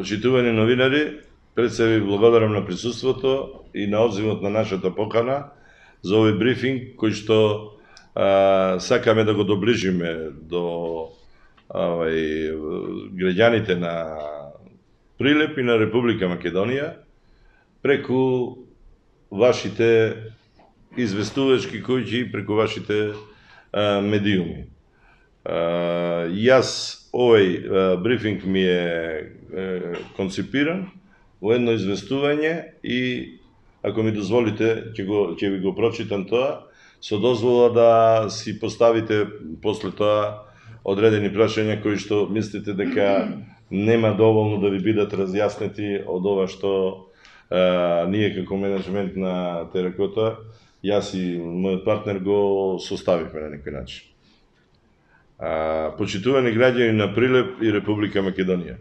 Почитувани новинари, пред се ви благодарам на присуството и на одзивот на нашата покана за овој брифинг кој што сакаме да го доближиме до граѓаните на Прилеп и на Република Македонија преку вашите известувачки куќи и преку вашите медиуми. Јас овој брифинг ми е концепиран во едно известување и ако ми дозволите ќе ви го прочитам тоа со дозвола да си поставите после тоа одредени прашања кои што мислите дека нема доволно да ви бидат разјаснети од ова што ние како менеджмент на Теракота, јас и мојот партнер го составивме на некој начин. Почитувани граѓани на Прилеп и Република Македонија,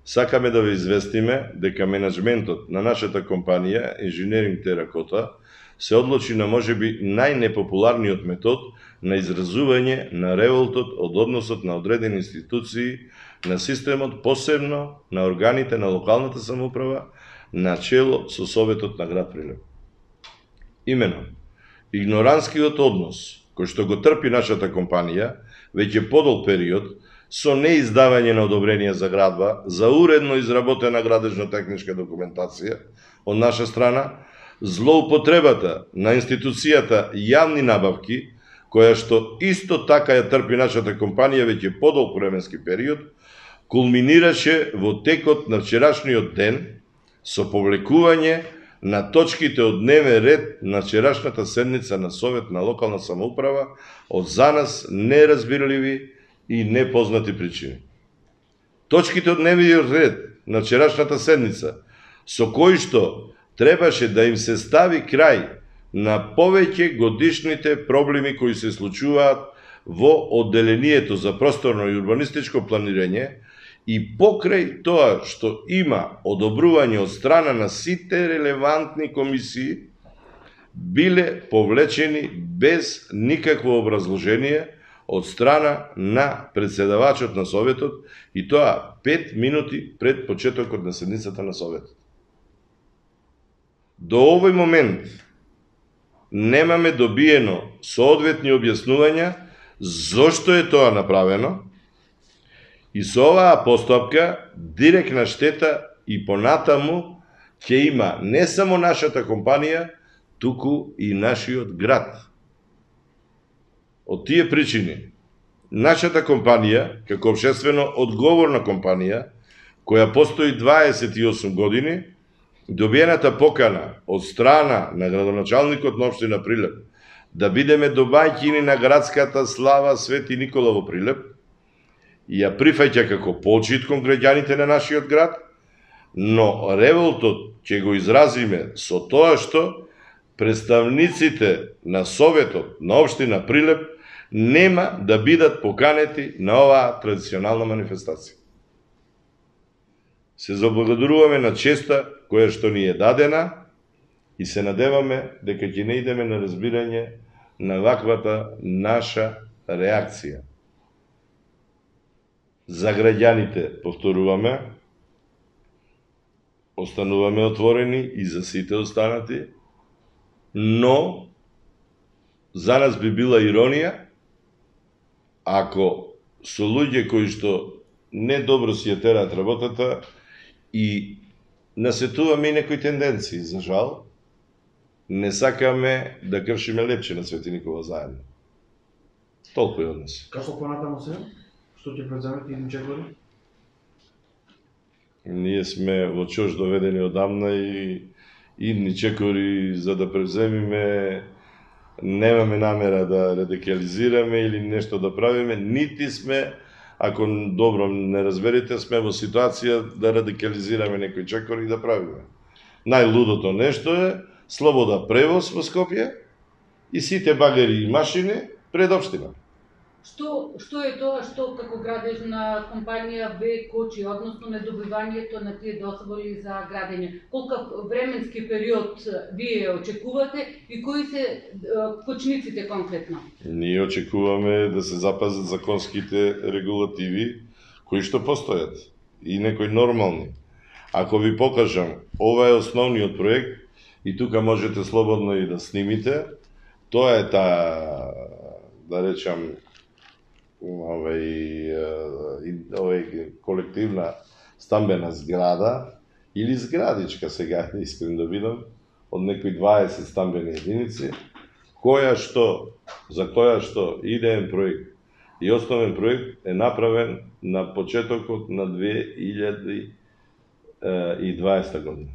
сакаме да ве известиме дека менеджментот на нашата компанија Инженеринг Теракота се одлучи на можеби најнепопуларниот метод на изразување на револтот од односот на одредени институции на системот, посебно на органите на локалната самоуправа, начело со Советот на град Прилеп. Имено, игноранскиот однос кој што го трпи нашата компанија веќе подолг период со неиздавање на одобрение за градба, за уредно изработена градежно-техничка документација од наша страна, злоупотребата на институцијата јавни набавки, која што исто така ја трпи нашата компанија веќе подолг временски период, кулминираше во текот на вчерашниот ден со повлекување на точките од дневен ред на вчерашната седница на Совет на локална самоуправа од за нас неразбирливи и непознати причини. Точките од дневниот ред на вчерашната седница со кои што требаше да им се стави крај на повеќе годишните проблеми кои се случуваат во одделението за просторно и урбанистичко планирање и покрај тоа што има одобрување од страна на сите релевантни комисии, биле повлечени без никакво образложение од страна на председавачот на Советот и тоа 5 минути пред почетокот на седницата на Советот. До овој момент немаме добиено соодветни објаснувања зошто е тоа направено и со оваа постапка директна штета и понатаму ќе има не само нашата компанија, туку и нашиот град. Од тие причини, нашата компанија, како општествено одговорна компанија, која постои 28 години, добиената покана од страна на градоначалникот на општина Прилеп да бидеме домаќини на градската слава Свети Никола во Прилеп, ја прифаќа како почит кон граѓаните на нашиот град, но револтот ќе го изразиме со тоа што представниците на Советот на општина Прилеп нема да бидат поканети на оваа традиционална манифестација. Се заблагодаруваме на честа која што ни е дадена и се надеваме дека ќе не идеме на разбирање на ваквата наша реакција. За граѓаните, повторуваме, остануваме отворени и за сите останати, но за нас би била иронија ако со луѓе кои што не добро си ја тераат работата и насетуваме и некои тенденции, за жал, не сакаме да кршиме лепче на Свети Никола заедно. Толку е од нас. Како понатамо се? Што ќе преземете идни чекори? Ние сме во чош доведени одамна и идни чекори за да превземиме, немаме намера да радикализираме или нешто да правиме, нити сме, ако добро не разберете, сме во ситуација да радикализираме некој чекор и да правиме. Најлудото нешто е слобода превоз во Скопје и сите багери и машини пред општина. Што е тоа што како градежна компанија ве кочи, односно недобивањето на тие дозволи за градење? Колкав временски период вие очекувате и кои се кочниците конкретно? Ние очекуваме да се запазат законските регулативи кои што постојат и некои нормални. Ако ви покажам, ова е основниот проект и тука можете слободно и да снимите. Тоа е таа, да речам, колективна стамбена зграда или зградичка сега, искрен да видам, од некои 20 стамбени единици, за која што идеен проект и основен проект е направен на почетокот на 2020 година.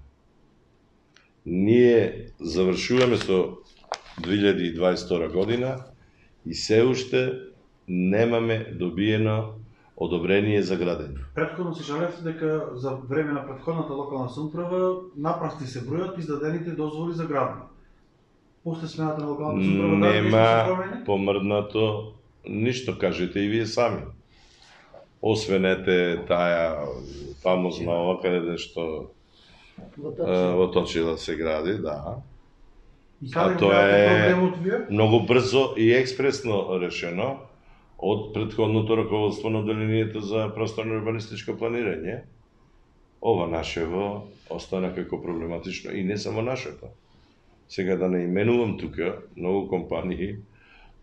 Ние завршуваме со 2022 година и се уште немаме добиено одобрение за градење. Претходно се жалевте дека за време на претходната локална самоуправа напрасни се бројат издадените дозволи за градење. После смената на локалната самоуправа нема помрднато ништо, кажете и вие сами. Освен таа фамозна ова каде што во Точила се гради, да. А тоа е многу брзо и експресно решено од претходното раководство на Одделението за просторно урбанистичко планирање. Ова нашево остана како проблематично и не само нашето. Сега да не именувам тука многу компании,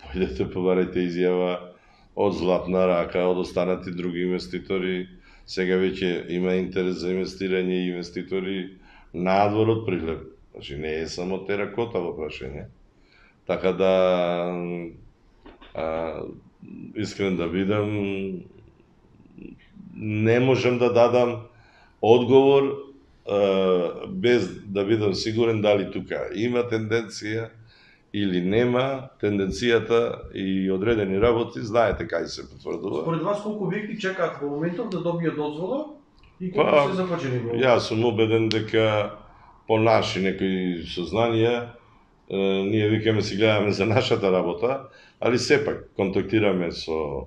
појдете побарајте изјава од Златна рака, од останати други инвеститори. Сега веќе има интерес за инвестирање и инвеститори надвор од Прилеп. Значи не е само теракота во прашање. Така да искрен да бидам, не можам да дадам одговор без да бидам сигурен дали тука има тенденција или нема. Тенденцијата и одредени работи знаете кај се потврдува. Според вас колку објекти чекаат во моментов да добијат дозвола и колку се започнени во? Јас сум убеден дека по наши некои сознанија ние викаме си гледаме за нашата работа, али сепак контактираме со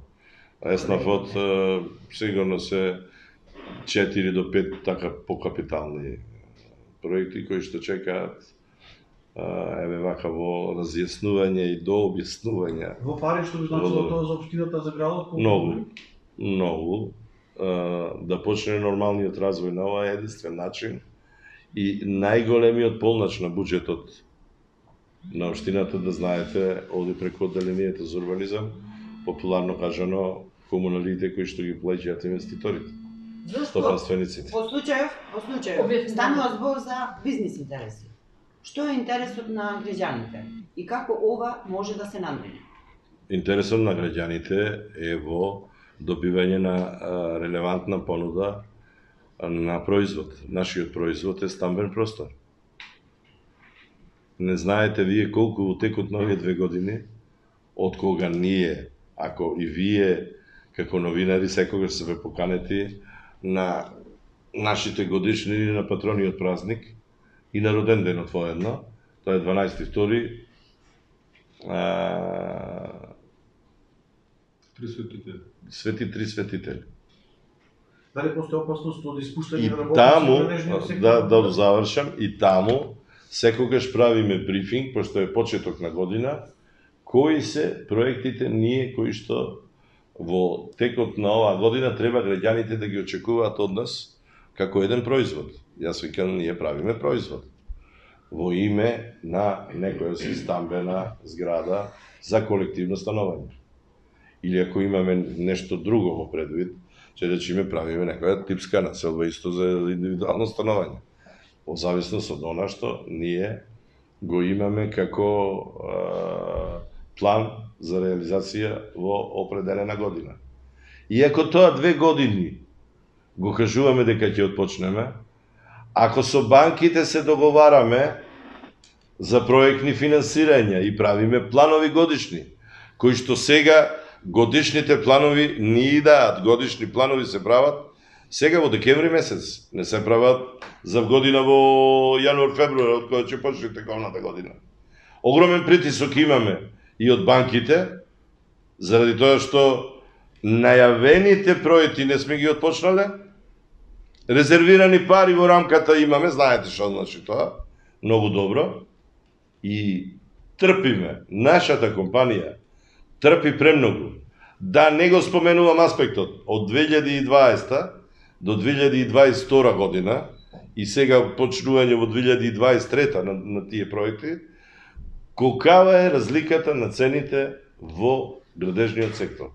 ЕСНАФ-от, сигурно се 4 до 5 така покапитални проекти кои што чекаат вака во разјаснување и дообјаснување. Во пари што би значило тоа за општината, за градот? Многу. Да почне нормалниот развој на ова е единствен начин и најголемиот полнач на буџетот на општината, да знаете, оди преку Одделението за урбанизам, популарно кажано, комуналите кои што ги плаќаат инвеститорите. Стопанствениците. Во случајов станува збор за бизнис интереси. Што е интересот на граѓаните и како ова може да се надмени? Интересот на граѓаните е во добивање на релевантна понуда на производ. Нашиот производ е стамбен простор. Не знаете вие колку во текот на овие 2 години, од кога ние, ако и вие како новинари секогаш се ве поканети на нашите годишни или на патрониот празник и на роден денот воедно, тоа е 12.2. Свети три светители. Дали постои опасност од испуштање И на работници таму, во нежниот сектор? да завршам, и таму секогаш правиме брифинг, пошто е почеток на година, кои се проектите ние кои што во текот на оваа година треба граѓаните да ги очекуваат од нас како еден производ. Јас викам, ние правиме производ во име на некоја си стамбена зграда за колективно становање. Или ако имаме нешто друго во предвид, че речиме правиме некоја типска населба исто за индивидуално становање. Во зависност од она што ние го имаме како план за реализација во определена година. Иако тоа 2 години го кажуваме дека ќе отпочнеме, ако со банките се договараме за проектни финансирања и правиме планови годишни, кои што сега годишните планови не идат, годишни планови се прават сега во декември месец, не се прават за година во јануар-февруар, од кога ќе почне тековната година. Огромен притисок имаме и од банките, заради тоа што најавените проекти не сме ги отпочнале, резервирани пари во рамката имаме, знаете што значи тоа, многу добро, и трпиме, нашата компанија трпи премногу. Да не го споменувам аспектот од 2020 до 2022 година, и сега почнување во 2023 на тие проекти, колкава е разликата на цените во градежниот сектор.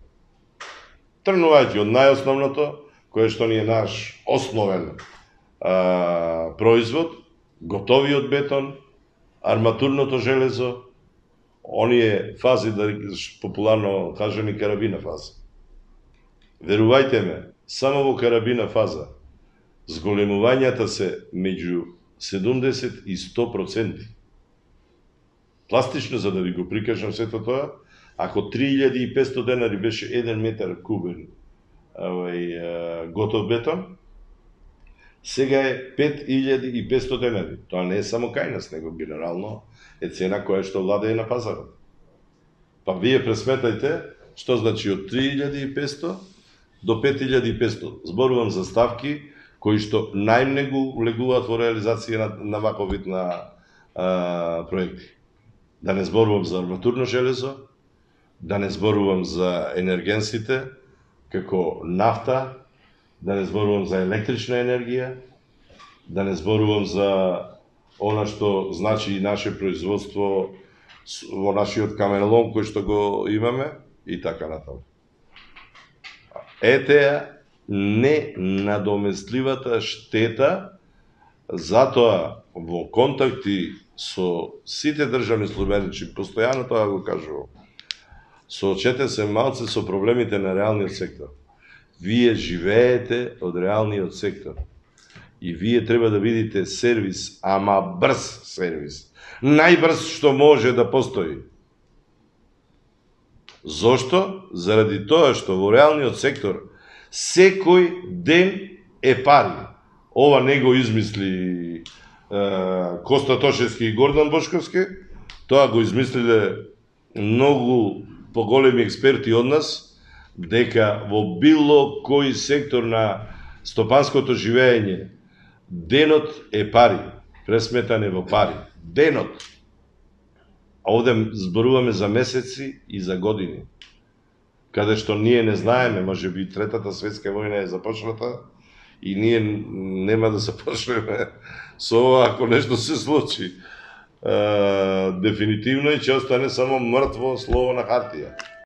Тргнувајќи од најосновното, кое што ни е наш основен производ, готовиот бетон, арматурното железо, оние фази, да популарно кажани карабина фаза. Верувајте ме, само во карабина фаза, зголемувањата се меѓу 70 и 100%. Пластично, за да ви го прикажам сето тоа, ако 3500 денари беше 1 метар кубен готов бетон, сега е 5500 денари. Тоа не е само кај нас, него генерално е цена која што владее на пазарот. Па вие пресметајте што значи од 3500 до 5500. Зборувам за ставки кои што најмногу влегуваат во реализација на ваков вид на проекти. Да не зборувам за арматурно железо, да не зборувам за енергенсите, како нафта, да не зборувам за електрична енергија, да не зборувам за она што значи и наше производство во нашиот каменолом кој што го имаме и така натаму. Етеа ненадоместливата штета, затоа во контакти со сите државни службеници, постојано тоа го кажувам, соочете се малце со проблемите на реалниот сектор. Вие живеете од реалниот сектор. И вие треба да видите сервис, ама брз сервис. Најбрз што може да постои. Зошто? Заради тоа што во реалниот сектор секој ден е пари. Ова не го измисли Коста Тошевски и Гордан Бошковски, тоа го измислиле многу поголеми експерти од нас, дека во било кој сектор на стопанското живење денот е пари, пресметане во пари. Денот. А овде зборуваме за месеци и за години. Каде што ние не знаеме, може би Третата светска војна е започната и ние нема да започнеме со ова ако нешто се случи. Дефинитивно и ќе остане само мртво слово на хартија.